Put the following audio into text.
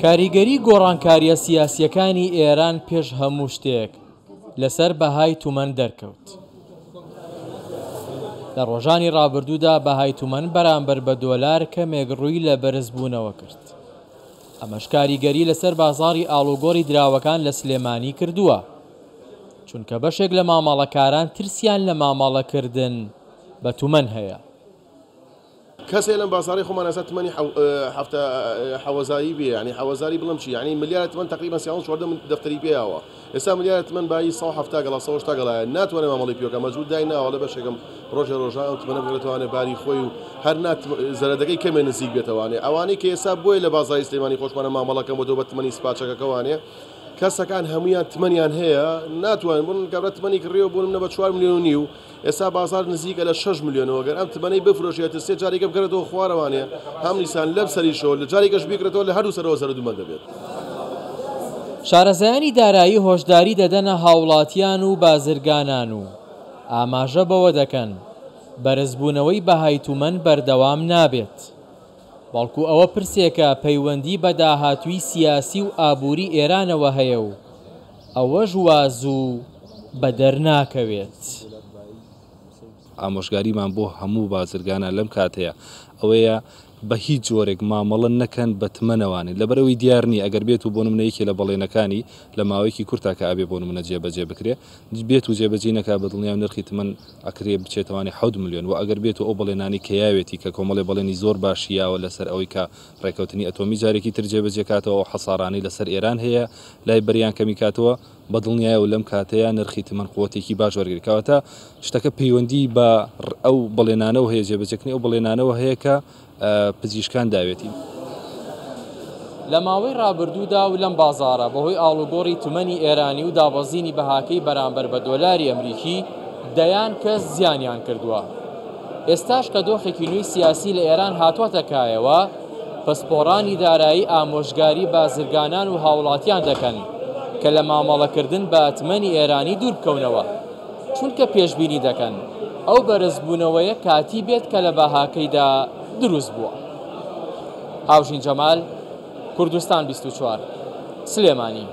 کاریگەری گۆڕانکارییە سیاسییەکانی ئێران پێش هەموو شتێک لەسەر بەهای تومەن دەرکەوت. لە ڕۆژانی ڕابردوودا بەهای تومەن بەرامبەر بە دۆلار کەمێک ڕووی لە بەرزبوونەوە کرد. ئەمەش کاریگەری لەسەر بازاڕی ئاڵوگۆڕی دراوەکان لە سلێمانی کردووە، چونکە بەشێک لە مامەڵەکاران ترسیان لە مامەڵەکردن بە تومەن هەیە. کەس هەیە لەم بازاڕەی خۆمان ئێستا تمەنی حەفتا حەوەزاری بێ یانی حەوەزاری بڵێم چی یانی ملیارە تمەن تەقریبەن سیانزە چواردە دەفتەری پێ یاوە ئێستا ملیارە تمەن بایی 170 گەڵا 180 گەڵایە ناتوانێ مامەڵەی پێ بکا مەجبور دای ناوە ئەڵێ بەشێکم ڕۆژێ ڕۆژان ئەو تمەنە بگرێتەوانێ باری خۆی و هەر نا زەرەدەکەی کەمێ نزیک بێتەوانێ ئەوانەی کە ئێستا بۆیە لە بازاڕی سلێمانی خۆشمانە مامەڵەکەم بۆتەوە بە تمەنی سپاچەکەکەوانێ کەسەکان هەمویان تمەنیان هەیە ناتوانن بۆ کابرا تمەنی کڕیەوە بۆ منە بە 4 ملیۆن و نیو ئێستا بازاڕ نزیکە لە شەش ملیۆنەوە گەر ئەم تمەنەی بفرۆشێت سێ جارێکە بگەڕێتەوە خوارەوانێ هەم نیسان لەم سەریشەوە لە جارێکەش بیکڕێتەوە لە هەردوو سەرەوە زەرەدومەند دەبێت. شارەزایانی دارایی هۆشداری دەدەنە هاوڵاتیان و بازرگانان و ئاماژە بەوە دەکەن، بەرزبوونەوەی بەهای تومەن بەردەوام نابێت، بەڵکو ئەوە پرسێکە پەیوەندی بە داهاتووی سیاسی و ئابووری ئێرانەوە هەیە و ئەوەش وا زوو بەدەر ناکەوێت. ئامۆژگاریمان بۆ هەموو بازرگانان لەم کاتەیە ئەوەیە بە هیچ جۆرێک مامەڵە نەکەن بە تمەنەوانی لەبەرئەوەی دیار نییە ئەگەر بێت و بۆ نمونە یەکێ لە بەڵێنەکانی لە ماوەیەکی کورتا کە ئەبێ بۆ نمونە جێبەجێ بکرێ بێت و جێبەجێی نەکا بە دڵنیام نرخی تمەن ئەکرێ بچێتەوانی حەوت ملیۆن وە ئەگەر بێت و ئەو بەڵێنانەی کە یاوێتی کە کۆمەڵێ بەڵێنی زۆر باشی یاوە لەسەر ئەوەی کە ڕێکەوتنی ئەتۆمی جارێکی تر جێبەجێ کاتەوە ئەو حەسارانەی لەسەر ئێران هەیە لای بەریان کەمی کاتەوە بە دڵنیایەوە لەم کاتەیا نرخی تمەن قوتێکی باش وەرگری کەواتە شتەکە پەیوەندی بە ئەو بەڵێنانەوە هەیە جێبەجێکردنی ئەو بەڵێنانەوە هەیە کە پزیشکان داوێتی. لە ماوەی رابردوودا و لەم بازاڕە بەهۆی ئاڵوگۆڕی تمەنی ئێرانی و دابەزینی بەهاکەی بەرامبەر بە دۆلاری ئەمریکی دەیان کەس زیانیان کردووە. ئێستاش کە دۆخێکی نوێی سیاسی لە ئێران هاتووەتە کایەوە، پسپۆڕانی دارایی ئامۆژگاری بازرگانان و هاوڵاتیان دەکەن کە لە مامەڵەکردن بە تمەنی ئێرانی دوور بکەونەوە، چونکە پێشبینی دەکەن ئەو بەرزبوونەوەیە کاتی بێت کە لە بەهاکەیدا دروست بووە. هاوژین جەمال، کوردستان 24، سلێمانی.